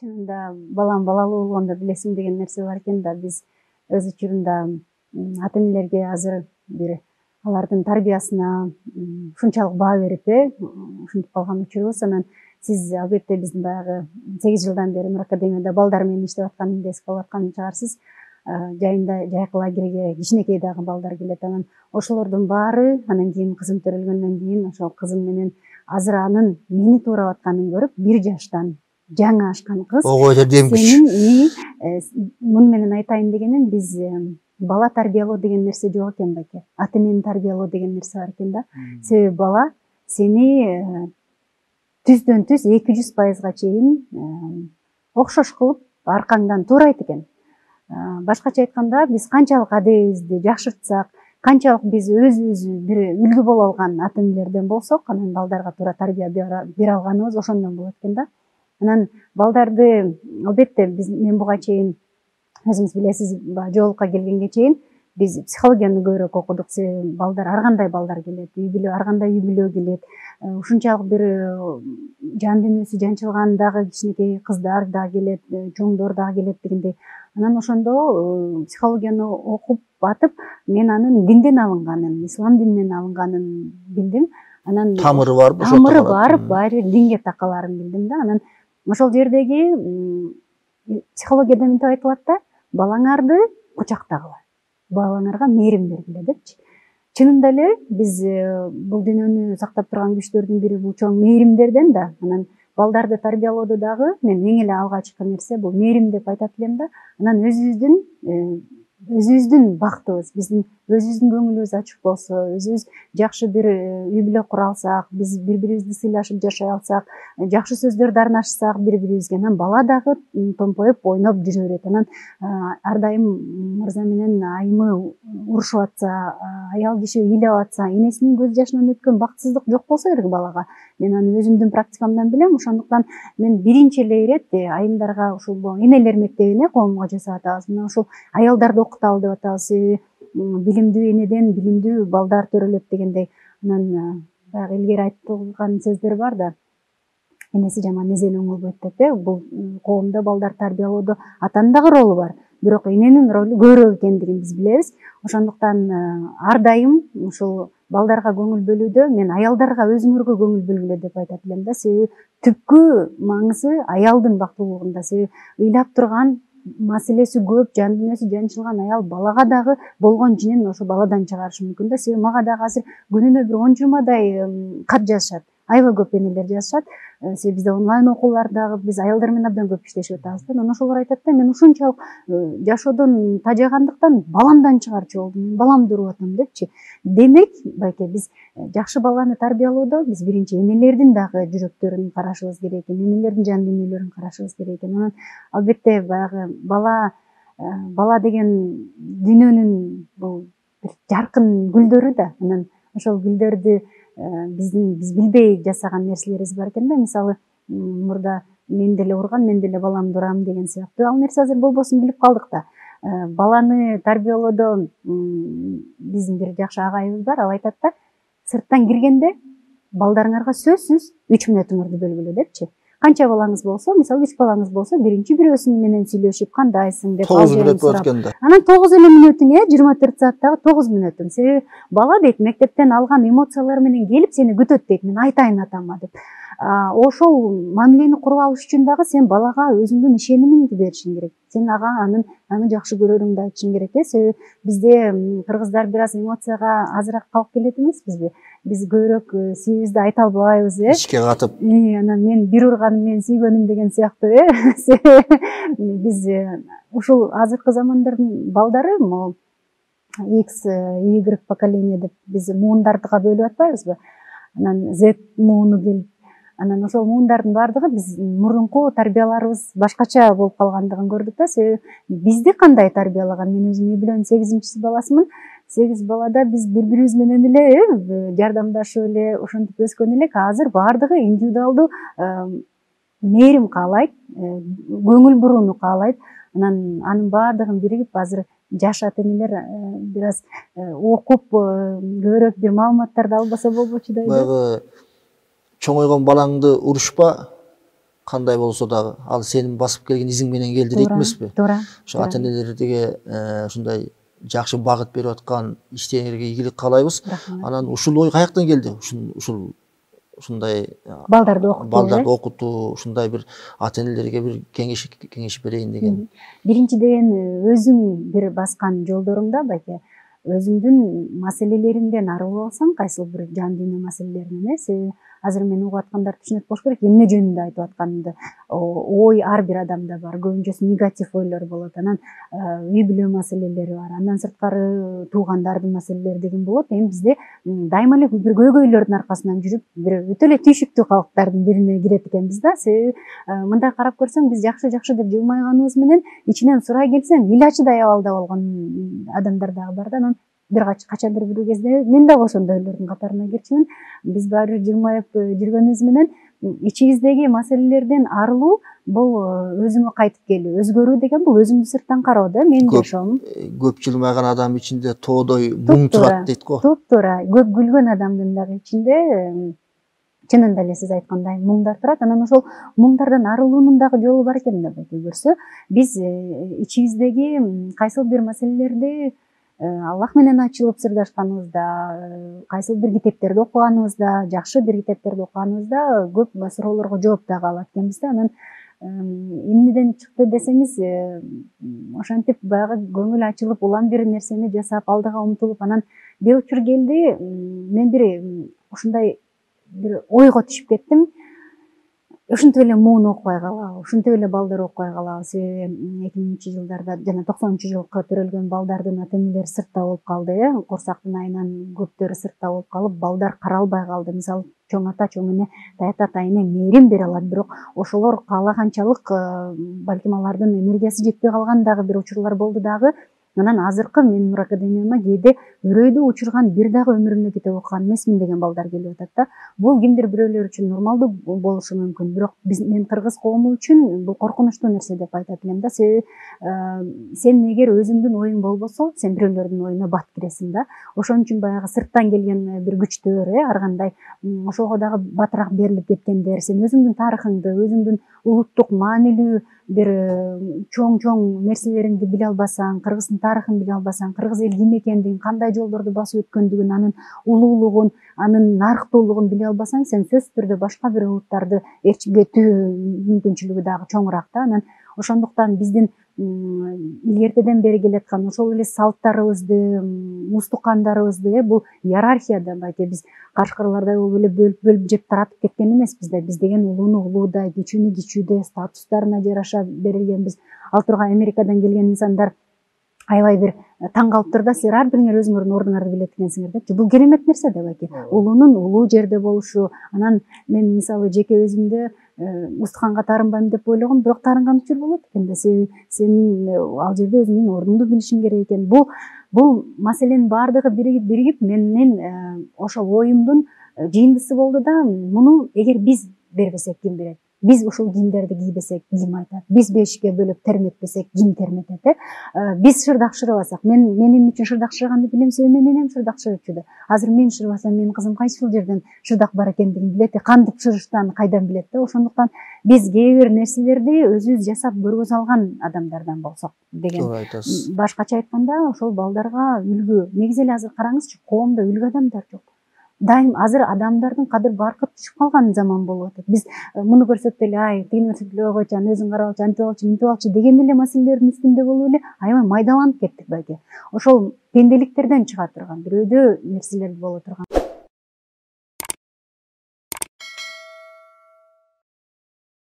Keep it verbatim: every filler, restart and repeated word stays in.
Чынында балам балалуу болгондо билесиң деген нерсе бар экен да. Биз өз учурунда ата энелерге азыр бир алардын тарбиясына ушунчалык баа берип э ушинтип калган учурубуз. Анан сиз албетте биздин баягы сегиз жылдан бери Нур Академияда балдар менен иштеп атканымды эске алып аткан чыгарсыз. Жайында жайкы лагерге кичинекей дагы балдар келет. Анан ошолордун баары анан кийин кызым төрөлгөндөн кийин ошол кызым менен азыр анын мени туурап атканын көрүп, бир жаштан жаңы ашкан кыз. Ого, жардемчи. Сенин муну менен айтайын дегеним, биз бала тарбиялоо деген нерсе жок экен байке. Ата энени тарбиялоо деген нерсе бар экен да. Себеби бала сени түздөн түз эки жүз пайызга чейин окшош кылып аркаңдан туурайт экен. Башкача айтканда, биз канчалык адебибизди жакшыртсак, канчалык биз өзүбүз бир үлгү боло алган ата энелерден болсок, анан балдарга туура тарбия бере алганыбыз ошондон болот экен да. Анан балдарды албетте биз мен буга чейин өзүңүз билесиз, жоолукка келгенге чейин биз психологияны көбүрөөк окудук. Себеби балдар ар кандай балдар келет, үй бүлө ар кандай үй бүлө келет. Ушунчалык бир жан дүйнөсү жанчылган дагы кичинекей кыздар да келет, чоңдор дагы келет дегендей. Анан ошондо психологияны окуп батып, мен анын динден алынганын, ислам дининен алынганын билдим. Анан тамыры барбы? Тамыры бар, баары динге такаларын билдим да. Анан ошол жердеги психологияда мынтип айтылат да, балаңарды кучактагыла, балаңарга мээрим бергиле депчи. Чынында эле биз бул дүйнөнү сактап турган күчтөрдүн бири бул чоң мээримдерден да. Анан балдарды тарбиялоодо дагы мен эң эле алгачкы нерсе бул мээрим деп айтат элем да. Анан өзүбүздүн өзүбүздүн бактыбыз, биздин өзүбүздүн көңүлүбүз ачык болсо, өзүбүз жакшы бир үй бүлө кура алсак, биз бири-бирибизди сыйлашып жашай алсак, жакшы сөздөрдү арнашсак бири-бирибизге, анан бала дагы томпоюп, ойноп жүрө берет. Анан ар дайым мырза менен айымы урушуп атса, аял киши ыйлап атса, энесинин көз жашынан өткөн бактсыздык жок болсо керек балага. Мен аны өзүмдүн практикамдан билем. Ошондуктан мен биринчи эле ирет айымдарга ушул энелер мектебине коомго жасап атабыз. Мына ушул аялдарды окуталы деп атабыз. Себеби билимдүү энеден билимдүү балдар төрөлөт дегендей. Анан баягы илгери айтылган сөздөр бар да. Энеси жаман эзел оңолбойт деп э. Бул коомдо балдар тарбиялоодо атанын дагы ролу бар. Бирок эненин ролу көбүрөөк экендигин биз билебиз. Ошондуктан ар дайым ушул балдарга көңүл бөлүүдө мен аялдарга өзүңөргө көңүл бөлгүлө деп айтат элем да. Себеби түпкү маңызы аялдын бактылуулугунда. Себеби ыйлап турган маселеси көп, жан дүйнөсү жанчылган аял балага дагы болгон жинин ошо баладан чыгарышы мүмкүн да. Себеби мага дагы азыр күнүнө бир он жыйырмадай кат жазышат. Аябай көп энелер жазышат. Себеби бизде онлайн окуулардагы биз аялдар менен абдан көп иштешип атабыз да. Анан ошолор айтат да, мен ушунчалык жашоодон тажагандыктан баламдан чыгарчу болдум, мен баламды уруп атам депчи. Демек, байке, биз жакшы баланы тарбиялоодо биз биринчи энелердин дагы жүрөктөрүн карашыбыз керек экен, энелердин жан дүйнөлөрүн карашыбыз керек экен. Анан албетте баягы бала бала деген дүйнөнүн бул бир жаркын гүлдөрү да. Анан ошол гүлдөрдү биздин биз билбей жасаган нерселерибиз бар экен да. Мисалы, мурда мен деле урган, мен деле баламды урам деген сыяктуу. Ал нерсе азыр болбосун билип калдык да. Баланы тарбиялоодо биздин бир жакшы агайыбыз бар. Ал айтат да, сырттан киргенде балдарыңарга сөзсүз үч мүнөтүңөрдү бөлгүлө депчи. Канча балаңыз болсо, мисалы үч балаңыз болсо, биринчи бирөөсү менен сүйлөшүп, кандайсың деп тогуз мүнөт болот экен да. Анан тогуз эле мүнөтүң, жыйырма төрт сааттагы тогуз мүнөтүң. Себеби бала дейт, мектептен алган эмоциялар менен келип сени күтөт дейт, мен айтайын атама деп. Ошол мамилени куруп алыш үчүн дагы сен балага өзүңдүн ишенимиңди беришиң керек. Сен ага анын аны жакшы көрөрүңдү айтышың керек э. Себеби бизде кыргыздар бир аз эмоцияга азыраак калып келет эмеспизби? Биз көбүрөөк сүйүүбүздү айта албайбыз э. Ичке катып. Анан мен бир урганым мен сүйгөнүм деген сыяктуу э. Биз ушул азыркы замандардын балдары могу X, Y поколение деп биз муундардыга бөлүп атпайбызбы? Анан Z мууну келип, анан ошол муундардын баардыгы биз мурунку тарбияларыбыз башкача болуп калгандыгын көрдүк да. Себеби бизди кандай тарбиялаган? Мен өзүм үй бүлөнүн сегизинчиси баласымын. сегиз балада биз бири-бирибиз менен эле жардамдашып эле ошентип өскөн элек. Азыр баардыгы индивидуалдуу мээрим каалайт, көңүл бурууну каалайт. Анан анын баардыгын биригип азыр жаш ата энелер бир аз окуп көбүрөөк бир маалыматтарды албаса болбочу да. Баягы чоңойгон балаңды урушпа, кандай болсо дагы ал сенин басып келген изиң менен келди дейт эмеспи? Туура. Ошо ата энелерге ушундай жакшы багыт берип аткан иштериңерге ийгилик каалайбыз. Анан ушул ой каяктан келди? Ушул ушул ушундай балдарды окутуу, балдарды окутуу, ушундай бир ата энелерге бир кеңеш кеңеш берейин деген. Биринчиден өзүң бир баскан жолдоруңда байке өзүңдүн маселелериңден арылып алсаң, кайсыл бир жан дүйнө маселелерин эмес, азыр мен угуп аткандар түшүнөт болуш керек, эмне жөнүндө айтып атканымды. Ой ар бир адамда бар, көбүнчөсү негатив ойлор болот, анан үй бүлө маселелери бар, андан сырткары туугандардын маселелери деген болот. Эми бизде дайыма эле бир көйгөйлөрдүн аркасынан жүрүп, бир өтө эле түйшүктүү калктардын бирине кирет экенбиз да. Себеби мындай карап көрсөң, биз жакшы жакшы деп жылмайганыбыз менен ичинен сурай келсең, илачыдай абалда болгон адамдар дагы бар да. Анан бир качандыр бир кезде мен дагы ошондойлордун катарына кирчүмүн. Биз баары бир жылмайып жүргөнүбүз менен ичибиздеги маселелерден арылуу бул өзүңө кайтып келүү, өзгөрүү деген бул өзүңдү сырттан кароо да. Мен жашоом. Көп жылмайган адам ичинде тоодой муң турат дейт го. Туп-туура. Көп күлгөн адамдын дагы ичинде чынында эле сиз айткандай муңдар турат. Анан ошол муңдардан арылуунун дагы жолу бар экен да байке көрсө. Биз ичибиздеги кайсыл бир маселелерди Аллах менен ачылып сырдашканыбызда, кайсыл бир китептерди окуганыбызда, жакшы бир китептерди окуганыбызда көп суроолорго жооп дагы алат экенбиз да. Анан эмнеден чыкты десеңиз, ошентип баягы көңүл ачылып улам бир нерсени жасап, алдыга умтулуп, анан бир учур келди, мен бир ушундай бир ойго түшүп кеттим. Ушинтип эле муун окубай калабы, ушинтип эле балдар окубай калабы. Себеби эки миңинчи жылдарда жана токсонунчу жылкы төрөлгөн балдардын ата энелери сыртта болуп калды, э, курсактын айынан көптөрү сыртта болуп калып, балдар каралбай калды. Мисалы, чоң ата, чоң эне, таят атайыне мээрим бере алат, бирок ошолор каалаганчалык балким алардын энергиясы жетпей калган дагы бир учурлар болду дагы. Анан азыркы менин Нур академияма кээде өрөйдү учурган бир дагы өмүрүмдө китеп окуган эмесмин деген балдар келип атат да. Бул кимдир бирөөлөр үчүн нормалдуу болушу мүмкүн, бирок биз мен кыргыз коому үчүн бул коркунучтуу нерсе деп айтат элем да. Себеби сен эгер өзүңдүн оюң болбосо, сен бирөөлөрдүн оюна бат киресиң да. Ошон үчүн баягы сырттан келген бир күчтөр, э, ар кандай ошого дагы батыраак берилип кеткендер, сен өзүңдүн тарыхыңды, өзүңдүн улуттук маанилүү бир чоң-чоң нерселериңди биле албасаң, кыргыздын тарыхын биле албасаң, кыргыз эл ким экендигин, кандай жолдорду басып өткөндүгүн, анын улуулугун, анын нарыктуулугун биле албасаң, сен сөзсүз түрдө башка бир улуттарды ээрчитүү мүмкүнчүлүгү дагы чоңураак да. Анан ошондуктан биздин илгертеден бери келаткан ошол эле салттарыбызды, устукандарыбызды, бул иерархияда байке биз кашкырлардай болуп эле бөлүп бөлүп жеп таратып кеткен эмеспиз да. Биз деген улууну улуудай, кичүүнү кичүүдөй, статустарына жараша берилгенбиз. Ал тургай Америкадан келген инсандар аябай бир таң калыптыр да, силер ар бириңер өзүңөрдүн ордуңарды билет экенсиңер депчи. Бул керемет нерсе да байке. Улуунун улуу жерде болушу. Анан мен мисалы жеке өзүмдө устуканга таарынбайм деп ойлогом, бирок таарынган учур болот экен да. Себеби сен ал жерде өзүңдүн ордуңду билишиң керек экен. Бул бул маселенин баардыгы биригип биригип менин ошол оюмдун жыйындысы болду да. Муну эгер биз бербесек ким берет? Биз ушул кийимдерди кийбесек ким айтат? Биз бешикке бөлөп терметпесек ким терметет, э? Биз шырдак шырабасак, мен мен эмне үчүн шырдак шыраганды билем, себеби мен энем шырдак шырачу да. Азыр мен шырбасам, менин кызым кайсыл жерден шырдак бар экендигин билет, кантип шырыштарын кайдан билет да. Ошондуктан биз кээ бир нерселерди өзүбүз жасап көргөзө алган адамдардан болсок деген. Башкача айтканда, ошол балдарга үлгү. Негизи эле азыр караңызчы, коомдо үлгү адамдар жок. Дайым азыр адамдардын кадыр баркы түшүп калган заман болуп атат. Биз муну көрсөк деле, ай, тигини көрсөк деле, ойгойчу, аны өзүң карап алчы, антип алчы, мынтип алчы деген эле маселелердин үстүндө болуп эле аябай майдаланып кеттик байке. Ошол пенделиктерден чыга турган, бирөөдө нерселер боло турган.